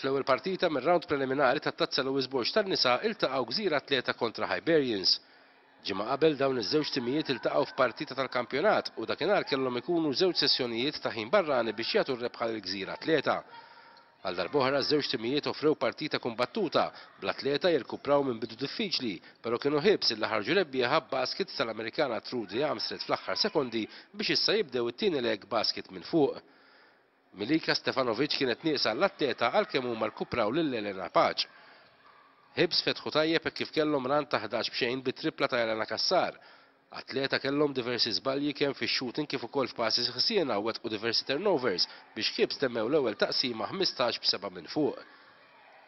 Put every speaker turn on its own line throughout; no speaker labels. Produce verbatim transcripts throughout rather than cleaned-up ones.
Fl-ewwel partita mir-round preliminari tat-Tazza Louis Borg tan-nisa iltaqgħu Gżira Athleta kontra Hibernians. Ġimgħa qabel dawn iż-żewġ timijiet iltaqgħu f'partita tal-kampjonat u dakinhar kellhom ikunu żewġ sessjonijiet ta' ħin barrani biex jagħtu r-rebħa lil Gżira Athleta. Għal darb'oħra żewġ timijiet offrew partita kumbattuta, bl-Athleta jirkupraw minn bidu diffiċli, però kienu Hibs illi ħarġu rebbieħa basket tal-Amerikana Trudy Armstead fl-aħħar sekondi biex issa jibdew it-tieni leg basket minn fuq. Milika Stefanovic kienet nieqsa l-Athleta għalkemm huma rkupraw lil Elena Paċ. Hibs fetħu tajjeb kif kellhom run ta' ħdax b'xejn bit-tripla ta' Elena Cassar. Athleta kellhom diversi żbalji kemm fix-shooting kif ukoll f'passi ħsiena u wettqu diversi turnovers biex Hibs temmew l-ewwel taqsima ħmistax b'seba' minn fuq.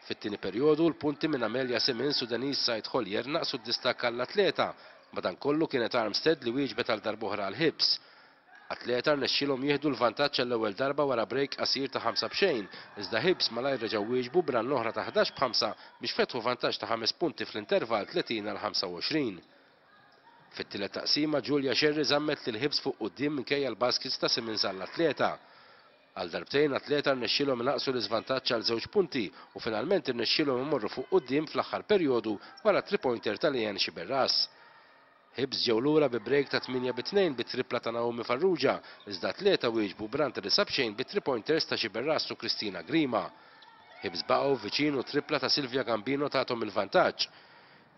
Fit-tieni perjodu l-punti minn Amelia Simmons u Denise Said Hollier naqsu d-distakk għall-Athleta, madankollu kienet Armstead li wieġbet għal darb'oħra għal Hibs. Athleta rnexxielhom jieħdu l-vantaġġ għall-ewwel darba wara break qasir ta' ħamsa b'xejn, iżda Hibs malajr reġgħu wieġbu b'run oħra ta' ħdax b'ħamsa biex fetħu vantaġġ ta' ħames punti fl-intervall tletin għal ħamsa u għoxrin. Fit-tielet taqsima Julia Sherry żammet lil Hibs fuq quddiem minkejja l-baskets ta' Simmons għall-Athleta. Għal darbtejn Athleta rnexxielhom inaqsu l-iżvantaġġ għal żewġ punti u finalment irnexxielhom imorru fuq quddiem fl-aħħar perjodu wara three-pointer ta' Leanne Sciberras. Hibs ġew lura bi break ta' tmienja bi tnejn bi tripla ta' Naomi Farrugia, iżda Athleta wieġbu b'run ta' disa' b'xejn bi three-pointers ta' Sciberras u Kristina Grima. Hibs baqgħu viċin u tripla ta' Silvia Gambino tagħhom il-vantaġġ.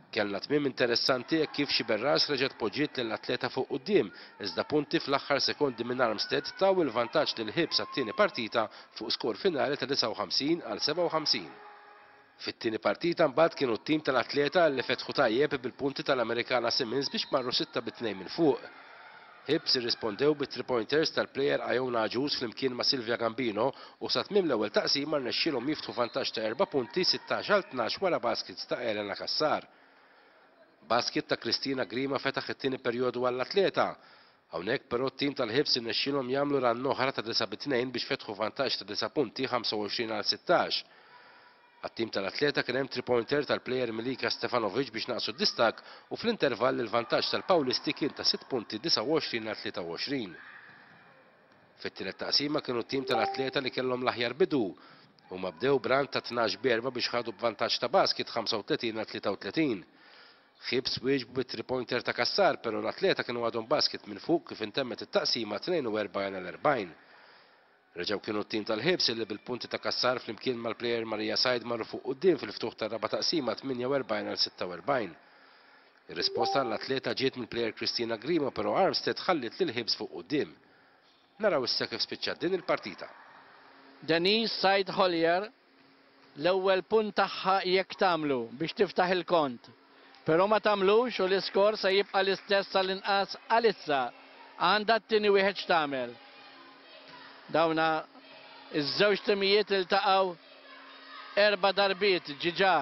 Kellna tmiem interessanti hekk kif Sciberras reġgħet poġġiet lill-Athleta fuq quddiem, iżda punti fl-aħħar sekondi minn Armstead taw il-vantaġġ lil Hibs għat-tieni partita fuq skor finali ta' disgħa u ħamsin għal sebgħa u ħamsin. Fit-tieni partita mbagħad kienu t-tim tal-Athleta li fetħu tajjeb bil-punti tal-Amerikana Simmons biex marru sitta bi tnejn minn fuq. Hibs irrispondew bi three pointers tal-player Iona Agius flimkien ma' Silvia Gambino u sa tmiem l-ewwel taqsima rnexxielhom jiftħu vantaġġ ta' erba' punti sittax għal tnax wara baskets ta' Elena Cassar. Basket ta' Kristina Grima fetaħ it-tieni perjodu għall-Athleta. Hawnhekk però t-tim tal-Hibs irnexxielhom jagħmlu run oħra ta' disa' bi tnejn biex fetħu vantaġġ ta' disa' punti ħamsa u għoxrin għal sittax. Għat-tim tal-Athleta kien hemm three-pointer tal-player Milika Stefanovic biex naqsu d-distakk u fl-intervall il-vantaġġ tal-Pawlisti kien ta' sitt punti disgħa u għoxrin għal tlieta u għoxrin. Fit-tielet taqsima kienu t-tim tal-Athleta li kellhom l-aħjar bidu. Huma bdew b'run ta' tnax b'erba' biex ħadu b'vantaġġ ta' basket ħamsa u tletin għal tlieta u tletin. Hibs wieġbu bi three-pointer ta' Cassar, però l-Athleta kienu għadhom basket minn fuq kif intemmet it-taqsima tnejn u erbgħin għal erbgħin. Reġgħu kienu t-tim tal-Hibs illi bil-punti ta' Cassar flimkien mal-player Maria Said marru fuq quddiem fil-ftuħ tar-raba' taqsima tmienja u erbgħin għal sitta u erbgħin. Ir-risposta għall-Athleta ġiet mill-player Kristina Grima, però Armstead ħalliet lil Hibs fuq quddiem. Naraw issa kif spiċċat din il-partita.
Denise Said Hollier l-ewwel punt tagħha jekk tagħmlu biex tiftaħ il-kont. Però ma tagħmlux u l-iskor se jibqa' l-istess għall-inqas għalissa. Għandha t-tieni wieħed x'tagħmel. Dawna iż-żewġ timijiet iltaqgħu erba' darbiet ġiġa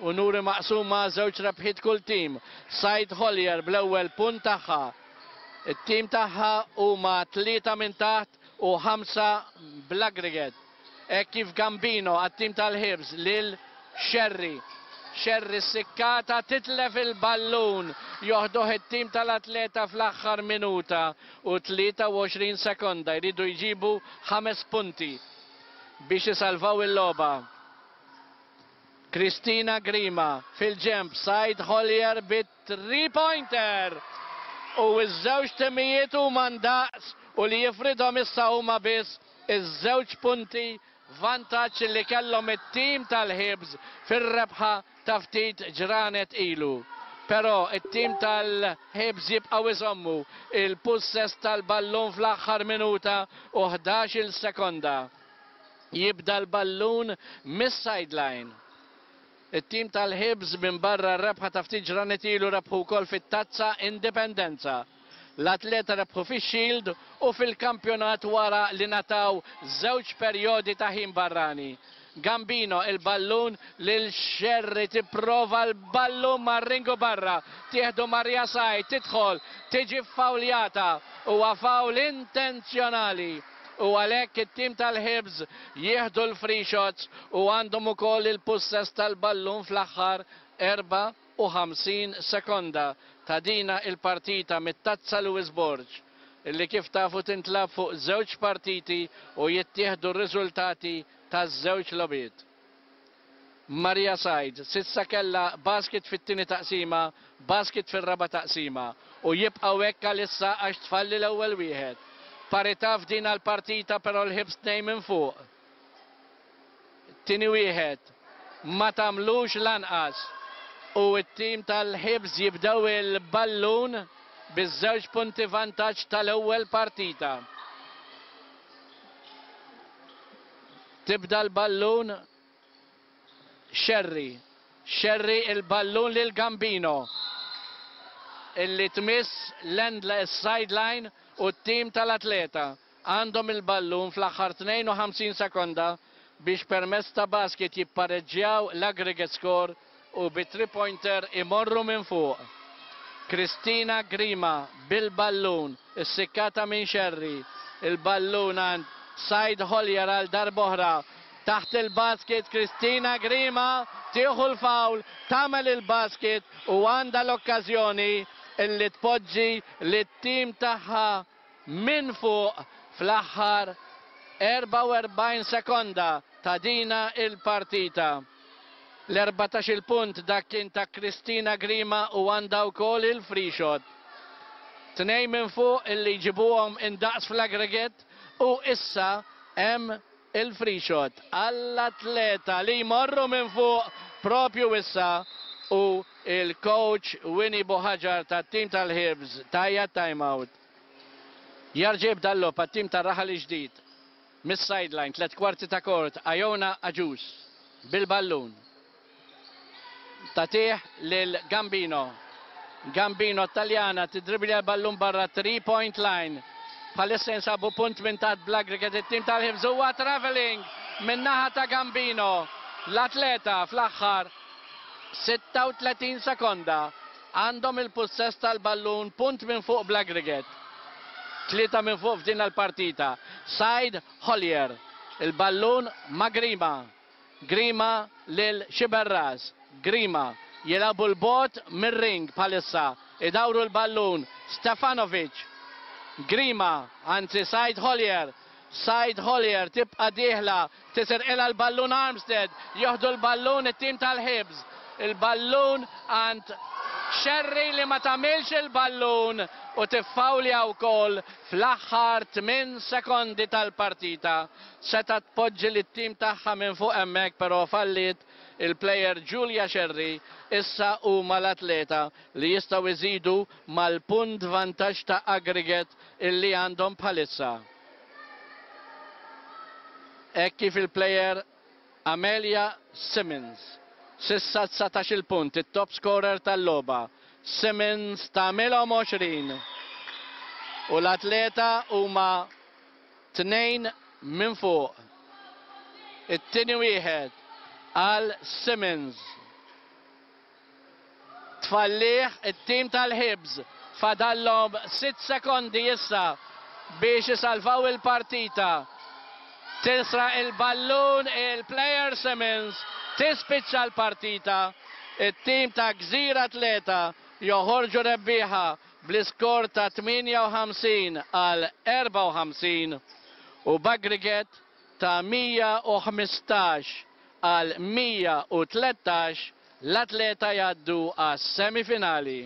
u nuri maqsuma żewġ rebħiet kull tim. Said Hollier bl-ewwel punt tagħha. It-tim tagħha huma tlieta minn taħt u ħamsa bl-aggregate. Hekk kif Gambino għat-tim tal-Hibs lil Sherry. Sherry sikkata titlef il-ballun, joħduh it-tim tal-Athleta fl-aħħar minuta u tlieta u għoxrin sekonda, jridu jġibu ħames punti biex isalvaw il-logħba. Kristina Grima fil-ġemp, Said Hollier bit three-pointer. U ż-żewġ timijiet huma ndaqs u li jifridhom issa huma biss iż-żewġ punti vantaġġ li kellhom it-tim tal-Hibs fir-rebħa ta' ftit ġranet ilu. Però it-tim tal-Hibs jibqgħu iżommu il-pussess tal-ballun fl-aħħar minuta u ħdax-il sekonda. Jibda l-ballun mis-sideline. It-tim tal-Hibs minn barra r-rebħa ta' ftit ġranet ilu rebħu wkoll fit-Tazza Indipendenza. L-Athleta rebħu fix-Shield u fil-kampjonat wara li nataw żewġ perjodi ta' ħin barrani. Gambino il-ballun lil Sherry, tipprova l-ballun mar-ringu barra, tieħdu Maria Said, tidħol, tiġi fawljata, huwa fawl intenzjonali. U għalhekk it-tim tal-Hibs jieħdu l-free shots u għandhom ukoll il-pussess tal-ballun fl-aħħar erba' u ħamsin sekonda ta' dina il-partita mit-Tazza Louis Borg, illi kif tafu tintlab fuq żewġ partiti u jittieħdu r-riżultati taż-żewġ logħbiet. Maria Said. S'issa kellha basket fit-tieni taqsima, basket fir-raba' taqsima u jibqgħu hekk għalissa għax tfalli l-ewwel wieħed. Parità f'din għall-partita, però l-Ħibs tnejn minn fuq. Tieni wieħed ma tagħmlux lanqas u t-tim tal-Ħibs jibdew il-ballun biż-żewġ punti vantaġġ tal-ewwel partita. Tibda l-ballun Sherry. Sherry il-ballun lil Gambino illi tmiss l-endless sideline u t-tim tal-Atleta għandhom il-ballun fl-aħħar tnejn u ħamsin sekonda biex permezz ta' basket jippareġġjaw l-aggregate score u bi three pointer imorru minn fuq. Kristina Grima bil-ballun, issikkata minn Sherry, il-ballun għand Said Hollier għal darb'oħra. Taħt il-basket Kristina Grima tieħu l-fawl, tagħmel il-basket u għandha l-okkażjoni illi tpoġġi lit-tim tagħha minn fuq fl-aħħar erbgħa u erbgħin sekonda ta' dina il-partita. L-erbatax il-punt dak kien ta' Kristina Grima u għandha wkoll il-free shot. Tnejn minn fuq illi jġibuhom indaqs fl-aggregate u issa hemm il-free shot għall-Atleta li jmorru minn fuq propju issa u il-coach Winnie Buhagiar tat-tim tal-Ħibs tajja timeout. Jarġib dallo pat-tim tar-Raħal Ġdid mis-sideline, tliet kwarti ta' kort, Ajona Aġus bil-ballun. Tatih lil Gambino. Gambino Taljana tidribli l-ballun barra three point line. Bħalissa jinsabu punt minn taħt bl-aggregate it-tim tal-Ħibs huwa traveling minn naħa ta' Gambino. L-Atleta fl-aħħar sitta u tletin sekonda għandhom il-pussess tal-ballun, punt minn fuq bl-aggregate. Tlieta minn fuq f'din l-partita. Said Hollier, il-ballun ma' Grima. Grima lil Xiberras. Grima jilabu l-bot mir-ring bħalissa. Idawru l-ballun Stefanovic. Grima, anzi Said Hollier. Said Hollier tibqa' dieħla, tisirqilha l-ballun Armstead, joħdu l-ballun it-tim tal-Ħibs. Il-ballun għand Sherry li ma tagħmilx il-ballun u tiffawlja wkoll fl-aħħar tmien sekondi tal-partita. Seta tpoġġi lit-tim tagħha minn fuq hemmhekk, però falliet il-player Julia Sherry. Issa huma l-Atleta li jistgħu jżidu mal-punt vantaġġ ta' aggregate illi għandhom bħalissa. Hekk kif il-player Amelia Simmons, s'issa dsatax il-punt, it-top scorer tal-logħba. Simmons tagħmilhom għoxrin. U l-Atleta huma tnejn minn fuq. It-tieni wieħed għal Simmons. Tfallih it-tim tal-Ħibs. Fadallhom sitt sekondi issa biex isalvaw il-partita. Tisra il-ballun il-player Simmons, tispiċċa l-partita. It-tim ta' Gżira Atleta joħorġu rebbieħa bl-iskor ta' tmienja u ħamsin għal erbgħa u ħamsin u b'aggregate ta' mija u ħmistax għal mija u tlettax l-Atleta jgħaddu għas-semifinali.